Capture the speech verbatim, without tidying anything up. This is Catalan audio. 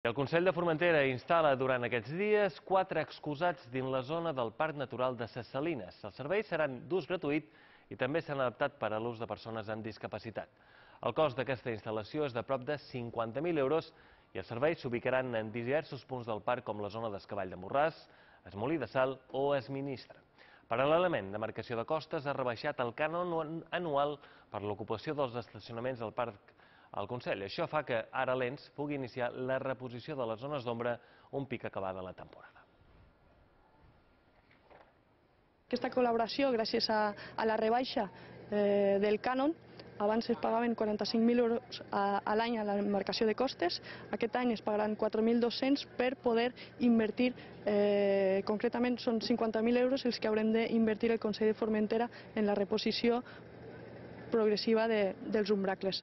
El Consell de Formentera instal·la durant aquests dies quatre excusats dins la zona del Parc Natural de Ses Salines. Els serveis seran d'ús gratuït i també s'han adaptat per a l'ús de persones amb discapacitat. El cost d'aquesta instal·lació és de prop de cinquanta mil euros i els serveis s'ubicaran en diversos punts del parc com la zona d'Escavall de Morràs, Es Molí de Sal o Es Ministra. Paral·lelament, Demarcació de Costes ha rebaixat el cànon anual per l'ocupació dels estacionaments del parc al Consell. Això fa que ara l'E N S pugui iniciar la reposició de les zones d'ombra un pic acabada la temporada. Aquesta col·laboració, gràcies a, a la rebaixa eh, del cànon, abans es pagaven quaranta-cinc mil euros a, a l'any a la demarcació de costes, aquest any es pagaran quatre mil dos-cents per poder invertir, eh, concretament són cinquanta mil euros els que haurem d'invertir el Consell de Formentera en la reposició progressiva de, dels umbracles.